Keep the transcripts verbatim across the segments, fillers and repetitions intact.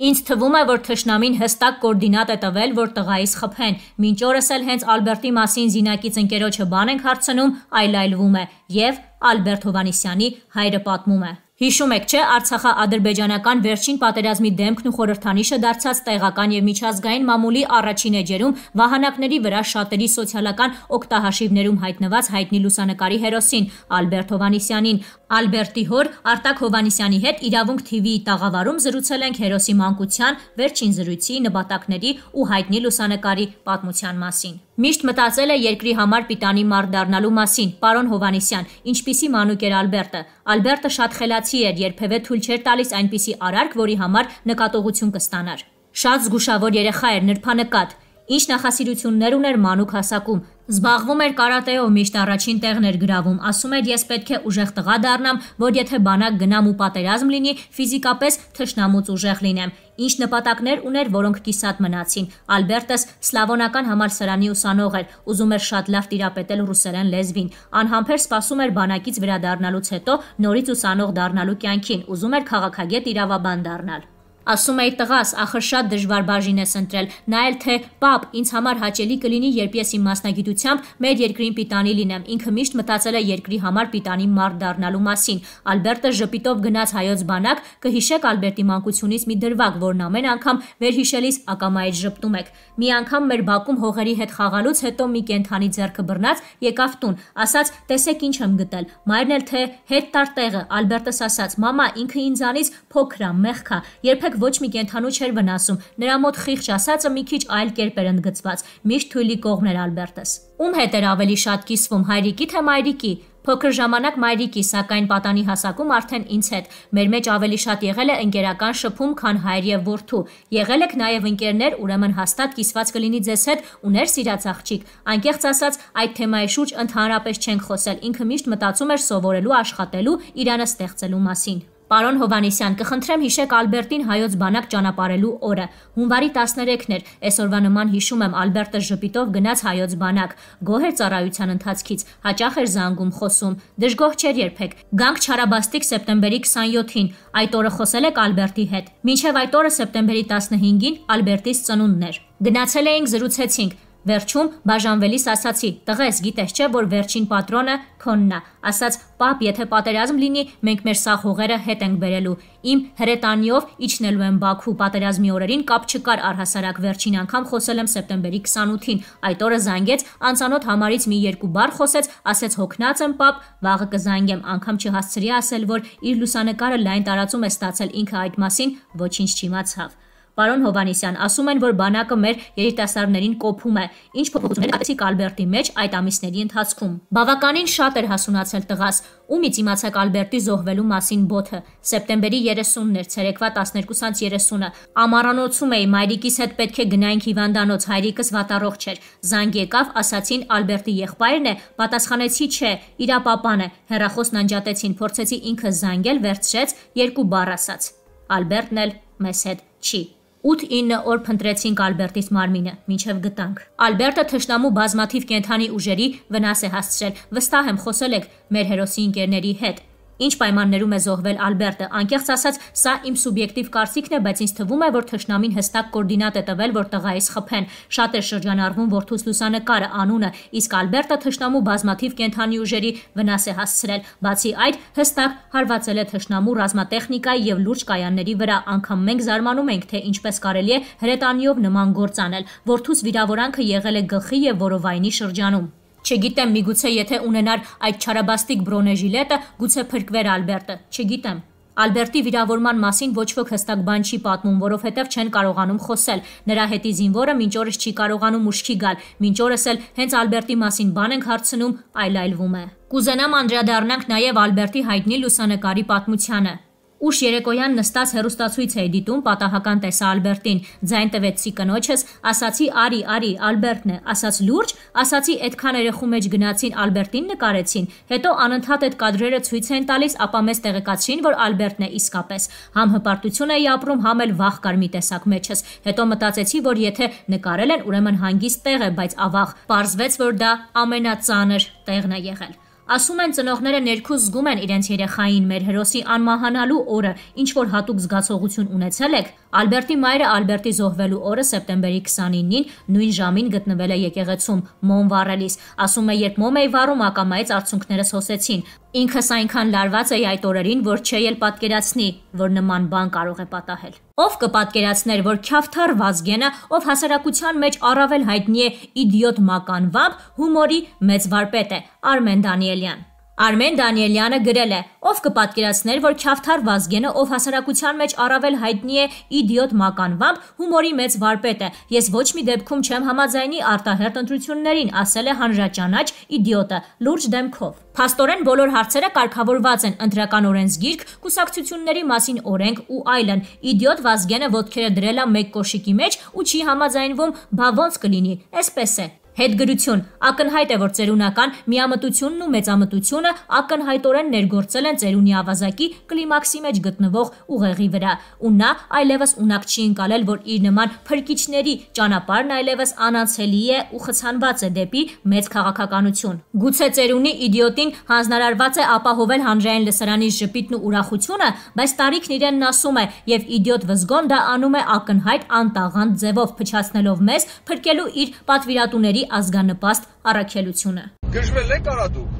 Ինձ թվում է, որ թշնամին հստակ կոորդինատ է տվել, որ տղայիս խփեն, մինչ օրս էլ հենց Ալբերտի մասին զինակից ընկերոջը բան ենք հարցնում, այլայլվում է, և Ալբերտ Հովհաննիսյանի հայրը պատմում է. Հիշում եք, չէ, Արցախա-ադրբեջանական վերջին պատերազմի դեմքն ու խորհրդանիշը դարձած տեղական և միջազգային մամուլի առաջին էջերում վահանակների վրա շատերի սոցիալական օգտահաշիվներում հայտնված հայտնի լուսանկարի հերոսին Ալբերտ Հովհաննիսյանին։ Ալբերտի հոր Արտակ Հովհաննիսյանի հետ Իրավունք թիվիի տաղավարում զրուցել ենք հերոսի մանկության, վերջին զրույցի, նպատակների ու հայտնի լուսանկարի պատմության մասին։ Միշտ մտածել է երկրի համար պիտանի մարդ դառնալու մասին, պարոն Հովհաննիսյան, ինչպիսի մանուկ էր Ալբերտը։ Ալբերտը շատ խելացի էր, երբևէ թույլ չէր տալիս այնպիսի արարք, որի համար նկատողություն կստանար։ Շատ զգուշավոր երեխա էր, նրբանկատ։ Ինչ նախասիրություններ ուներ մանուկ հասակում։ Զբաղվում էր կարատեով, միշտ առաջին տեղն էր գրավում, ասում էր ես պետք է ուժեղ տղա դառնամ, որ եթե բանակ գնամ ու պատերազմ լինի, ֆիզիկապես թշնամուց ուժեղ լինեմ։ Ինչ նպատակներ ուներ, որոնք կիսատ մնացին։ Ալբերտս սլավոնական համալսարանի ուսանող էր, ուզում էր շատ լավ տիրապետել ռուսերեն լեզվին, անհամբեր սպասում էր բանակից վերադառնալուց հետո նորից ուսանող դառնալու կյանքին, ուզում էր քաղաքագետ իրավաբան դառնալ։ Ասում էի տղաս, ախր շատ դժվար բաժին ես ընտրել, նա էլ թե պապ, ինձ համար հաճելի կլինի, երբ ես իմ մասնագիտությամբ մեր երկրին պիտանի լինեմ, ինքը միշտ մտածել է երկրի համար պիտանի մարդ դառնալու մասին։ Ալբերտը ժպիտով գնաց հայոց բանակ, կհիշեք Ալբերտի մանկությունից մի դրվագ, որն ամեն անգամ վերհիշելիս ակամայից ժպտում եք։ Մի անգամ մեր բակում հողերի հետ խաղալուց հետո մի կենդանի ձեռքը բռնած եկավ տուն, ասաց տեսեք ինչ եմ գտել, մայրն էլ թե հետ տար տեղը, Ալբերտս ասաց մամա, ինքը ինձանից փոքր ա, մեղք ա, երբեք ոչ մի կենդանու չէր վնասում, նրա մոտ խիղճ ասածը մի քիչ այլ կերպ էր ընդգծված, միշտ թույլի կողմն էր Ալբերտս։ Ում հետ էր ավելի շատ կիսվում, հայրիկի թե մայրիկի։ Փոքր ժամանակ մայրիկի, սակայն պատանի հասակում արդեն ինձ հետ։ Մեր մեջ ավելի շատ եղել է ընկերական շփում, քան հայր եւ որդու։ Եղել եք նաեւ ընկերներ, ուրեմն հաստատ կիսված կլինի ձեզ հետ ու ներ սիրած աղջիկ։ Անկեղծ ասած, այդ թեմայի շուրջ ընդհանրապես չենք խոսել։ Ինքը միշտ մտածում էր սովորելու, աշխատելու, իրանը ստեղծելու մասին։ Պարոն Հովհաննիսյան, կխնդրեմ հիշեք Ալբերտին հայոց բանակ ճանապարհելու օրը։ Հունվարի տասներեքն էր, այսօրվա նման հիշում եմ Ալբերտը ժպիտով գնաց հայոց բանակ։ Գոհ էր ծառայության ընթացքից, հաճախ էր զանգում, խոսում, դժգոհ չէր երբեք։ Գանք չարաբաստիկ սեպտեմբերի քսանյոթին, այդ օրը խոսել եք Ալբերտի հետ։ Մինչև այդ օրը սեպտեմբերի տասնհինգին Ալբերտիս ծնունդն էր։ Գնացել էինք, զրուցեցինք։ Վերջում բաժանվելիս ասացի. «Տղես, գիտես չէ, որ վերջին պատրոնը քոնն է»։ Ասաց. «Պապ, եթե պատերազմ լինի, մենք մեր սաղ հողերը հետ ենք բերելու»։ Իմ հրետանիով իջնելու եմ Բաքու, պատերազմի օրերին կապ չկար առհասարակ, վերջին անգամ խոսել եմ սեպտեմբերի քսանութին։ Այդ օրը զանգեց, անծանոթ համարից մի երկու բառ խոսեց, ասեց հոգնած եմ պապ, վաղը կզանգեմ, անգամ չհասցրի ասել, որ իր լուսանկարը լայն տարածում է ստացել, ինքը այդ մասին ոչինչ չիմացավ։ Պարոն Հովհաննիսյան, ասում են, որ բանակը մեր երիտասարդներին կոփում է։ Ինչ փոփոխություններ կացիք Ալբերտի մեջ այդ ամիսների ընթացքում։ Բավականին շատ էր հասունացել տղաս։ Ումից իմացաք Ալբերտի զոհվելու մասին բոթը։ Սեպտեմբերի երեսունն էր, ցերեկվա տասներկուսից երեսունը։ Ամառանոցում էի, մայրիկիս հետ պետք է գնայինք հիվանդանոց, հայրիկս վատառողջ էր։ Զանգ եկավ, ասացին Ալբերտի եղբայրն է, պատասխանեցի չէ, իրա պապան է։ Հեռախոսն անջատեցին, փորձեցի ինքը զանգել, վերցրեց, երկու բառ ասաց։ Ալբերտն էլ մեզ հետ չի։ ութ-ինը օր փնտրեցինք Ալբերտիս մարմինը, մինչև գտանք։ Ալբերտը թշնամու բազմաթիվ կենդանի ուժերի վնաս է հասցրել։ Վստահ եմ խոսել եք մեր հերոսի ընկերների հետ։ Ինչ պայմաններում է զոհվել Ալբերտը, անկեղծ ասած, սա իմ սուբյեկտիվ կարծիքն է, բայց ինձ թվում է, որ թշնամին հստակ կոորդինատ է տվել, որ տղայիս խփեն։ Շատ է շրջանառվում որդուս լուսանկարը, անունը, իսկ Ալբերտը թշնամու բազմաթիվ կենդանի ուժերի վնաս է հասցրել։ Բացի այդ, հստակ հարվածել է թշնամու ռազմատեխնիկայի եւ լուրջ կայանների վրա, անգամ մենք զարմանում ենք, թե ինչպես կարելի է հրետանիով նման գործ անել։ Որդուս վիրավորանքը եղել է գլխի եւ որովայնի շրջանում։ Չգիտեմ, միգուցե եթե ունենար այդ չարաբաստիկ բրոնեժիլետը, գուցե փրկվեր Ալբերտը, չգիտեմ։ Ալբերտի վիրավորման մասին ոչ ոք հստակ բան չի պատմում, որովհետև չեն կարողանում խոսել։ Նրա հետի զինվորը մինչ օրս չի կարողանում ուշքի գալ, մինչ օրս էլ հենց Ալբերտի մասին բան ենք հարցնում, այլայլվում է։ Կուզենամ անդրադառնանք նաև Ալբերտի հայտնի լուսանկարի պատմությանը։ Ուշ երեկոյան նստած հեռուստացույց էի դիտում, պատահական տեսա Ալբերտին, ձայն տվեցի կնոջս, ասացի արի, արի, Ալբերտն է, ասաց լուրջ, ասացի այդքան երեխու մեջ գնացին, Ալբերտին նկարեցին, հետո անընդհատ այդ կադրերը ցույց են տալիս, ապա մեզ տեղեկացրին, որ Ալբերտն է իսկապես։ Համ հպարտություն էի ապրում, համ էլ վախ կար մի տեսակ մեջս, հետո մտածեցի, որ եթե նկարել են, ուրեմն հանգիստ տեղ է, բայց ավաղ, պարզվեց, որ դա ամենածանր տեղն է եղել։ Ասում են ծնողները ներքուս զգում են իրենց երեխային մեր հերոսի անմահանալու օրը, ինչ որ հատուկ զգացողություն ունեցել եք։ Ալբերտի մայրը Ալբերտի զոհվելու օրը սեպտեմբերի քսանինին նույն ժամին գտնվել է եկեղեցում մոմ վառելիս։ Ասում է, երբ մոմ էի վառում, ակամայից արցունքներս հոսեցին։ Ինքս այնքան լարված էի այդ օրերին, որ չէի էլ պատկերացնի, որ նման բան կարող է պատահել։ Ով կպատկերացներ, որ Քյավթար Վազգենը, ով հասարակության մեջ առավել հայտնի է իդիոտ մականվամբ, հումորի մեծ վարպետ է, Արմեն Դանիելյան։ Արմեն Դանիելյանը գրել է. ով կպատկերացներ, որ Քյավթար Վազգենը, ով հասարակության մեջ առավել հայտնի է իդիոտ մականվամբ, հումորի մեծ վարպետ է։ Ես ոչ մի դեպքում չեմ համաձայնի արտահերտ ընտրություններին, ասել է հանրաճանաչ իդիոտը լուրջ դեմքով։ Փաստորեն բոլոր հարցերը կարգավորված են՝ ընտրական օրենսգիրք, կուսակցությունների մասին օրենք ու այլն։ Իդիոտ Վազգենը ոտքերը դրել է մեկ կոշիկի մեջ ու չի համաձայնվում, բա ոնց կլինի, էսպես է։ Հետգրություն. ակնհայտ է, որ ծերունական միամտությունն ու մեծամտությունը ակնհայտորեն ներգործել են ծերունի ավազակի կլիմաքսի մեջ գտնվող ուղեղի վրա, ու նա այլևս ունակ չի ընկալել, որ իր նման փրկիչների ճանապարհն այլևս անանցելի է ու խցանված է դեպի մեծ քաղաքականություն։ Գուցե ծերունի իդիոտին հանձնարարված է ապահովել հանրային լսարանի ժպիտն ու ուրախությունը, բայց տարիքն իրենն ասում է, եւ իդիոտ Վզգոն դա անում է ակնհայտ անտաղանդ ձևով, փչացնելով մեզ փրկելու իր պատվիրատուների ազգանպաստ առաքելությունը։ Գժվել եք արա դուք։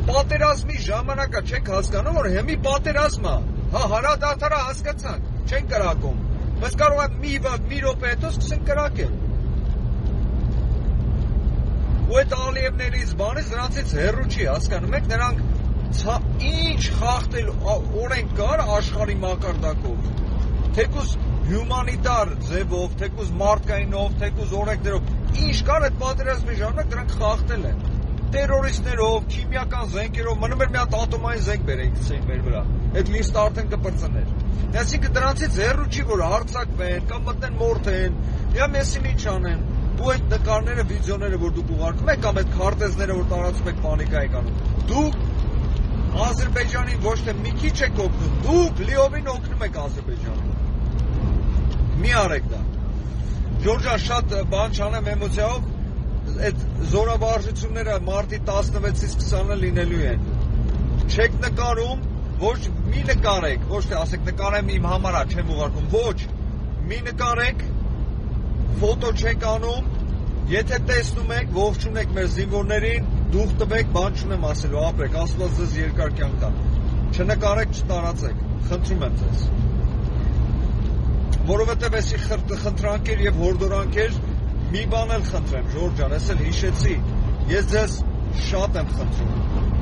Պատերազմի ժամանակա չեք հասկանում, որ հիմի պատերազմա, հա հարադարձարը հասկացանք, չեն կրակում։ Բայց կարող է մի վատ, մի րոպե հետո սկսեն կրակել։ Ու այդ Ալիևներից բանից նրանցից հեռու չի, հասկանում եք, նրանք ինչ խախտել օրենք կար աշխարհի մակարդակով։ Թեկուզ հյումանիտար ձևով, թեկուզ մարդկայինով, թեկուզ օրենքներով, ինչ կար այդ պատերազմի ժամանակ դրանք խախտել են։ Տերորիստներով, քիմիական զենքերով, մնում էր մի հատ ատոմային զենք բերեին գցեին մեր վրա։ Այդ լիստը արդեն կպրծներ։ Այսինքն դրանցից հեռու չի, որ հարձակվեն, կամ մտնեն մորթեն, կամ եսին ինչ անեն։ Ու այդ նկարները, վիդեոները, որ դուք ուղարկում եք, կամ այդ քարտեզները, որ տարածում եք, պանիկա եք անում, դուք Ադրբեջանին ոչ թե մի քիչ եք օգնում, դուք լիովին օգնում եք Ադրբեջանին։ Մի արեք դա։ Ժորժան շատ բան չանեմ էմոցիայով, այդ զորավարժությունները մարտի տասնվեցից քսանը լինելու են։ Չեք նկարում, ոչ մի նկարեք, ոչ թե ասեք նկարեմ իմ համարա, չեմ ուղարկում, ոչ, մի նկարեք, ֆոտո չեք անում, եթե տեսնում եք, ողջունեք մեր զինվորներին, դուխ տվեք, բան չունեմ ասելու, ապրեք, Աստված ձեզ երկար կյանք տա։ Չնկարեք, չտարածեք, խնդրում եմ ձեզ։ Որովհետև էսի խնդրանքեր եւ հորդորանքեր մի բան էլ խնդրեմ, Ժորժան, ես էլ հիշեցի, ես ձեզ շատ եմ խնդրում,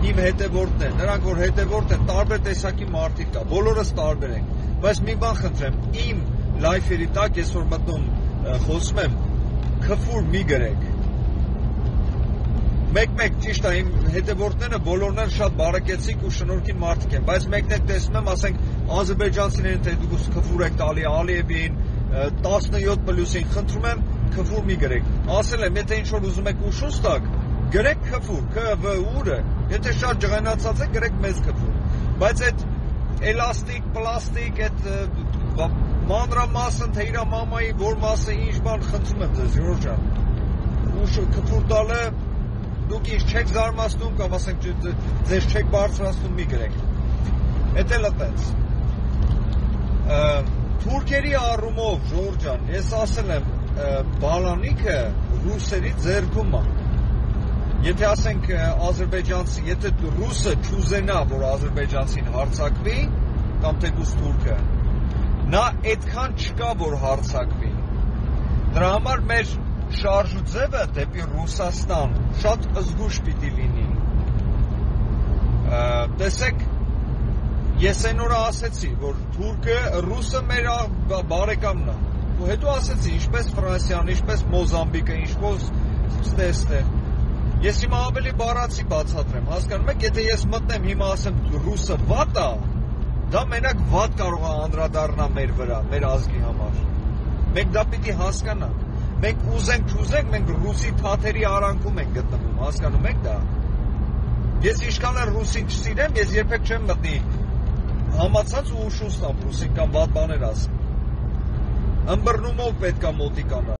իմ հետևորդներ, նրանք որ հետևորդ են, տարբեր տեսակի մարդիկ կա, բոլորս տարբեր ենք, բայց մի բան խնդրեմ, իմ լայֆերի տակ ես որ մտնում խոսում եմ, քֆուր մի գրեք, մեկ-մեկ ճիշտ է, իմ հետևորդները բոլորն են շատ բարեկեցիկ ու շնորհքին մարդիկ են, բայց մեկն եք տեսնում եմ, ասենք ադրբեջանցիներին թե դուք քֆուր եք տալի Ալիևին, տասնյոթ պլյուսին, խնդրում եմ քֆուր մի գրեք, ասել եմ, եթե ինչ որ ուզում եք ուշուց տակ, գրեք քֆուր, Ք-վ-ուրը, եթե շատ ջղայնացած եք, գրեք մեծ քֆուր, բայց այդ էլաստիկ, պլաստիկ, այդ մանրամասն, թե իրա մամայի որ մասը ինչ բան խնդրում եմ ձեզ, Ժորժան, ուշ քֆուր տալը դուք ինչ չեք զարմացնում կամ ասենք ձեզ չեք բարձրացնում մի գրեք։ Էդ էլ այդպես։ Թուրքերի առումով, Ժորժան, ես ասել եմ, բալանիքը ռուսերի ձեռքում է։ Եթե ասենք ադրբեջանցի, եթե ռուսը չուզենա, որ ադրբեջանցին հարձակվի, կամ թեկուզ թուրքը, նա այդքան չկա, որ հարձակվի։ Դրա համար մեր շարժու ձևը դեպի Ռուսաստան շատ զգուշ պիտի լինի։ Տեսեք, ես այն օրը ասեցի, որ թուրքը, ռուսը մեր բարեկամն է, ու հետո ասեցի, ինչպես Ֆրանսիան, ինչպես Մոզամբիկը, ինչպես ստեստը։ Ես հիմա ավելի բառացի բացատրեմ, հասկանում եք, եթե ես մտնեմ հիմա ասեմ ռուսը վատ է, դա մենակ վատ կարող է անդրադառնա մեր վրա, մեր ազգի համար։ Մենք դա պիտի հասկանանք։ Մենք ուզենք չուզենք, մենք ռուսի թաթերի արանքում ենք գտնվում, հասկանում եք դա։ Ես ինչքան էլ ռուսին չսիրեմ, ես երբեք չեմ մտնի համացած ու ուշուց տամ ռուսին կամ վատ բաներ ասեմ։ Ըմբռնումով պետք է մոտիկանալ։